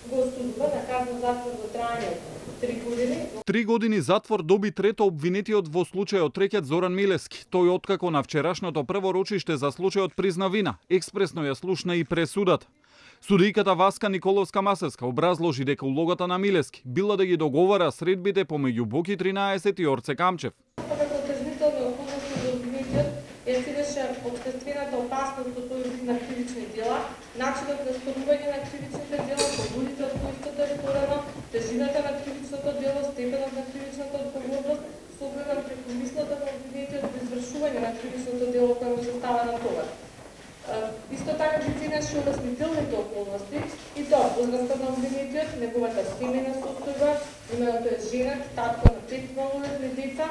го осудува на казна затвор во траење 3 години. 3 години затвор доби трето обвинетиот во случајот рекет Зоран Милевски. Тој откако на вчерашното прво рочиште за случајот призна вина, експресно ја слушна и пресудата. Судијката Васка Николовска-Масевска образложи дека улогата на Милевски била да ги договара средбите помеѓу Боки 13 и Орце Камчев. Отржнителни околности за обвинетиот ја целеше општествената опасност од тој вид на кривични дела, начинот на сторување на кривичните дела, побудите од кои истото е порано, тежината на кривичното дело, степенот на кривичната одговорност, со оглед на прекомислата на обвинетиот при извршување на кривичното дело кое му се става на товар. Исто така ги ценеше олеснителните околности и тоа возраста на обвинетиот, неговата семејна состојба, именно тој е женат, татко на 5 малолетни деца,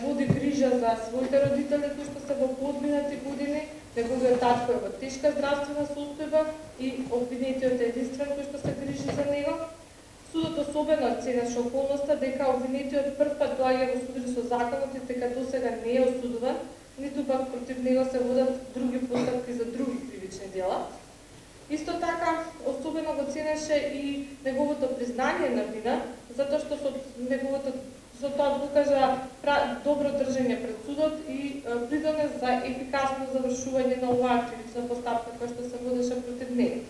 води грижа за своите родители кои што се во подминати години, неговиот татко е во тешка здравствена состојба и обвинетиот е единствен кој што се грижи за него. Судот особено ценеше околноста дека обвинетиот првпат доаѓа во судир со законот и дека досега не е осудуван, ниту пак против него се водат други постапки за други кривични дела. Исто така, особено го ценеше и неговото признање на вина, затоа што со тоа покажа добро држење пред судот и придонес за ефикасно завршување на оваа кривична постапка која што се водеше против него.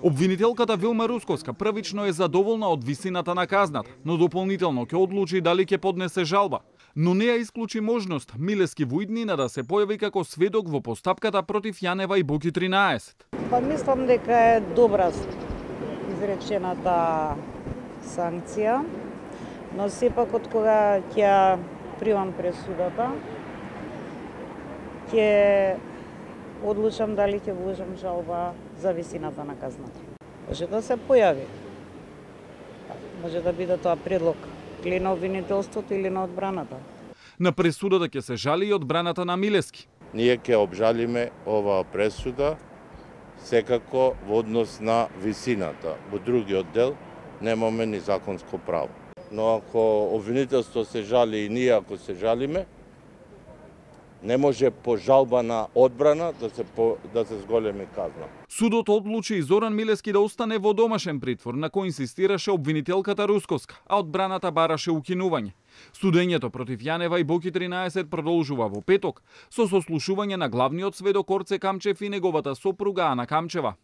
Обвинителката Вилма Русковска првично е задоволна од висината на казната, но дополнително ќе одлучи дали ќе поднесе жалба. Но не ја исклучи можност Милевски во иднина да се појави како сведок во постапката против Јанева и Боки 13. Па мислам дека е добра изречената санкција, но сепак од кога ќе примам пресудата, ќе одлучам дали ќе вложам жалба за висината на казната. Може да се појави. Може да биде тоа предлог или на обвинителството или на одбраната. На пресудата ќе се жали и одбраната на Милевски. Ние ќе обжалиме оваа пресуда секако во однос на висината. Во другиот дел немаме ни законско право. Но ако обвинителство се жали и ние ако се жалиме, не може по жалба на одбрана да се зголеми казна. Судот одлучи и Зоран Милевски да остане во домашен притвор, на кој инсистираше обвинителката Русковска, а одбраната бараше укинување. Судењето против Јанева и Боки 13 продолжува во петок со сослушување на главниот сведок Орце Камчев и неговата сопруга Ана Камчева.